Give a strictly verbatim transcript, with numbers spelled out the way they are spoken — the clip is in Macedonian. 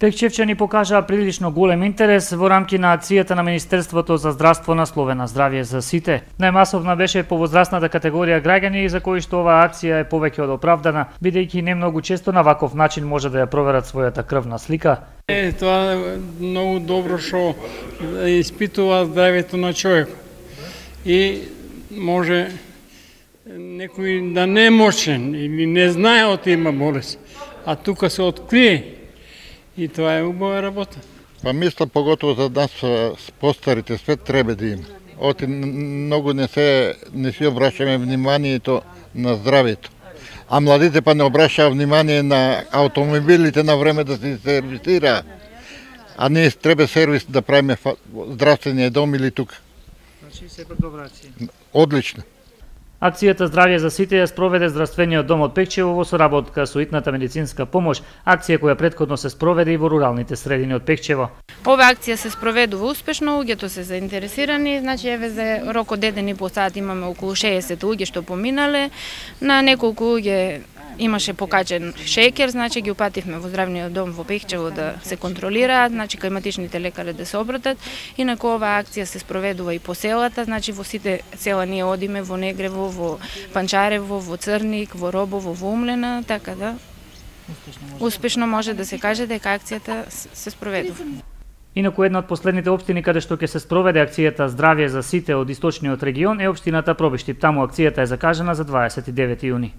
Пекчевчани покажаа прилично голем интерес во рамки на акцијата на Министерството за здравство насловена Здравје за сите. Најмасовна беше по возрастната категорија граѓани за кои што оваа акција е повеќе од оправдана, бидејќи не многу често на ваков начин може да ја проверат својата крвна слика. Е, тоа е многу добро што испитува здравјето на човек. И може некој да не е мошен или не знае од има болест, а тука се открие. И тоа е убава работа. Па мисля поготово за нас постарите свет треба да има. Оти многу не се не си обрашаме вниманието на здравјето. А младите па не обрашаа внимание на автомобилите на време да се сервисира. А ние треба сервис да правиме здравствениот дом или тука. Значи сепак добра акција. Одлично. Акцијата Здравје за сите ја спроведе Здравствениот дом од Пекчево во соработка со итната медицинска помош, акција која претходно се спроведе и во руралните средини од Пекчево. Ова акција се спроведува успешно, луѓето се заинтересирани, значи еве за рок од еден и по сат имаме околу шеесет луѓе што поминале, на неколку луѓе имаше покачен шеќер, значи ги упативме во здравниот дом во Пекчево да се контролираат, значи климатичните лекари да се обратат. Инаку оваа акција се спроведува и по селата, значи во сите села ние одиме, во Негрево, во Панчарево, во Црник, во Робово, во Умлена, така да успешно може да се каже дека акцијата се спроведува. Инаку една од последните општини каде што ќе се спроведе акцијата Здравје за сите од источниот регион е општината Пробиштип. Таму акцијата е закажана за дваесет и девети јуни.